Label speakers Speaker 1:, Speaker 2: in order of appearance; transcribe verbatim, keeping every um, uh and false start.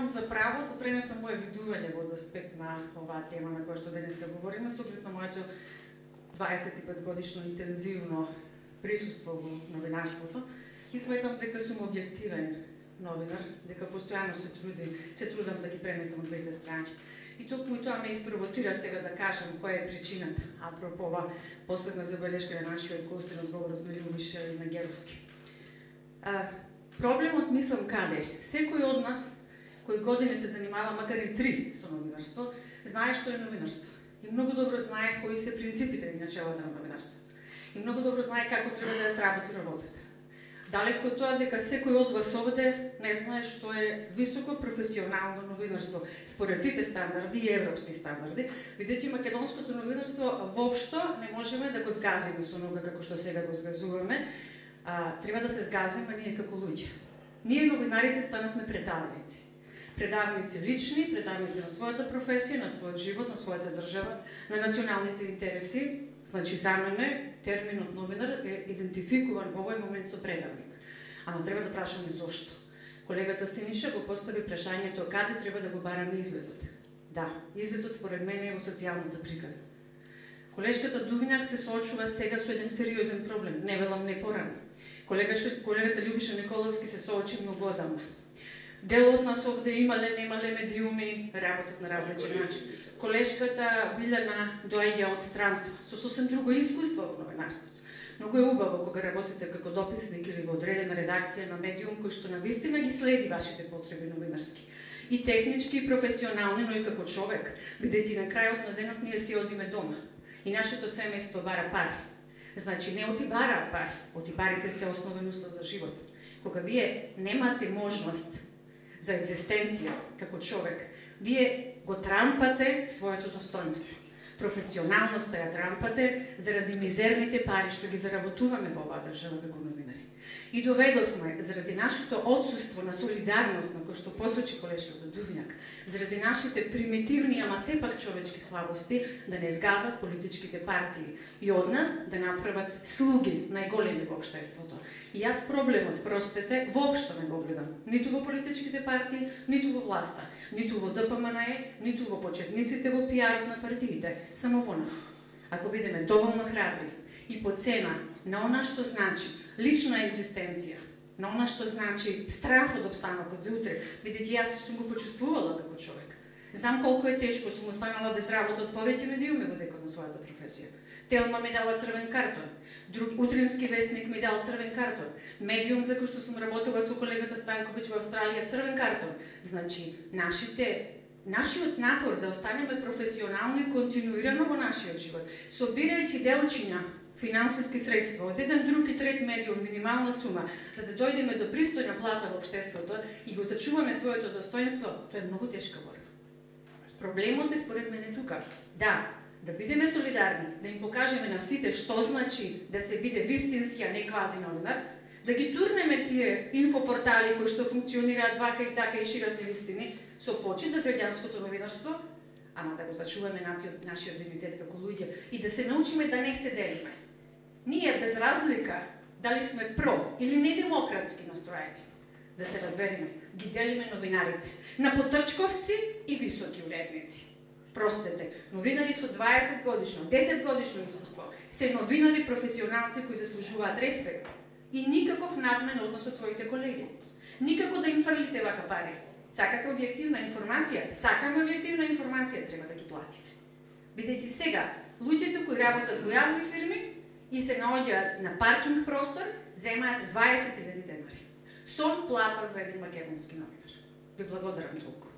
Speaker 1: Земам за право да пренесам моје видување во аспект на оваа тема на која што денеска говориме, со оглед на моето дваесет и пет годишно интензивно присуство во новинарството и сметам дека сум објективен новинар, дека постојано се трудим, се трудам да ги пренесам од двете страни. И токму тоа ме испровоцира сега да кажам која е причината, апропо ова последна забелешка на нашиот гостин од говорот на Љубиша и на Геровски. А, проблемот мислам каде? Секој од нас кој години се занимава, макар и три со новинарство, знае што е новинарство. И многу добро знае кои се принципите и начелата на новинарството. И многу добро знае како треба да ја сработи работата. Далеко од тоа дека секој од вас овде не знае што е високо професионално новинарство, според сите стандарди и европски стандарди, бидејќи македонското новинарство воопшто не можеме да го згазиме со нога како што сега го згазуваме, а, треба да се згазиме ние како луѓе. Ние новинарите станавме предавници. Предавници лични, предавници на својата професија, на својот живот, на својата држава, на националните интереси. Значи, за мене, терминот новинар е идентификуван во овој момент со предавник. Ама треба да прашаме зошто. Колегата Синиша го постави прашањето каде треба да го бараме излезот. Да, излезот според мене е во социјалната приказна. Колешката Дувињак се соочува сега со еден сериозен проблем, не велам не порано. Колегата, колегата Љубиша Николовски се соочи многу одамна. Дел од нас овде имале, немале медиуми, работат на различен начин. Колешката Билјана доаѓа од странство, со сосем друго искуство во новинарството. Многу е убаво кога работите како дописник или во одредена редакција на медиум кој што навистина ги следи вашите потреби новинарски. И технички, и професионални, но и како човек, бидејќи на крајот на денот ние си одиме дома. И нашето семејство бара пари. Значи, не оти бара пари, оти парите се основен услов за живот. Кога вие немате можност за екзистенција како човек, вие го трампате своето достоинство. Професионалноста ја трампате заради мизерните пари што ги заработуваме во оваа држава како новинари. И доведовме, заради нашето отсуство на солидарност, на кој што посочи колешката Дувињак, заради нашите примитивни, ама сепак човечки слабости, да не згазат политичките партии и од нас да направат слуги најголеми во општеството. И јас проблемот, простете, воопшто не го гледам. Ниту во политичките партии, ниту во власта, ниту во Д П М Н Е, ниту во почетниците во пиарот на партиите, само во нас. Ако бидеме доволно храбри и по цена на она што значи лична екзистенција, на она што значи страф од обстанокот за утре, бидејќи јас сум го почувствувала како човек. Знам колку е тешко, сум останала без работа од повеќе медиуми во декот на својата професија. Телма ми дала црвен картон, друг утрински вестник ми дал црвен картон, медиум за кој што сум работела со колегата Станковиќ во Австралија црвен картон. Значи, нашите Нашиот напор да останеме професионално и континуирано во нашиот живот, собирајќи делчиња финансиски средства од еден друг и трет медиум, минимална сума, за да дојдеме до пристојна плата во општеството и го зачуваме своето достоинство, тоа е многу тешка борба. Проблемот е според мене тука. Да, да бидеме солидарни, да им покажеме на сите што значи да се биде вистински, а не квази новинар, да ги турнеме тие инфопортали кои што функционираат вака и така и шират невистини, со почит за граѓанското новинарство, ама да го зачуваме нашиот дигнитет како луѓе и да се научиме да не се делиме. Ние, без разлика, дали сме про или недемократски настроени, да се разбереме, ги делиме новинарите на потрчковци и високи уредници. Простете, новинари со дваесет годишно, десет годишно искуство, се новинари професионалци кои заслужуваат респект и никаков надмен однос од своите колеги. Никако да им фрлите вака пари. Сакате објективна информација, сакаме објективна информација, треба да ги платиме. Бидејќи сега, луѓето кои работат во јавни фирми и се наоѓаат на паркинг простор, земаат дваесет илјади денари. Сон плата за еден македонски новинар. Ви благодарам толку.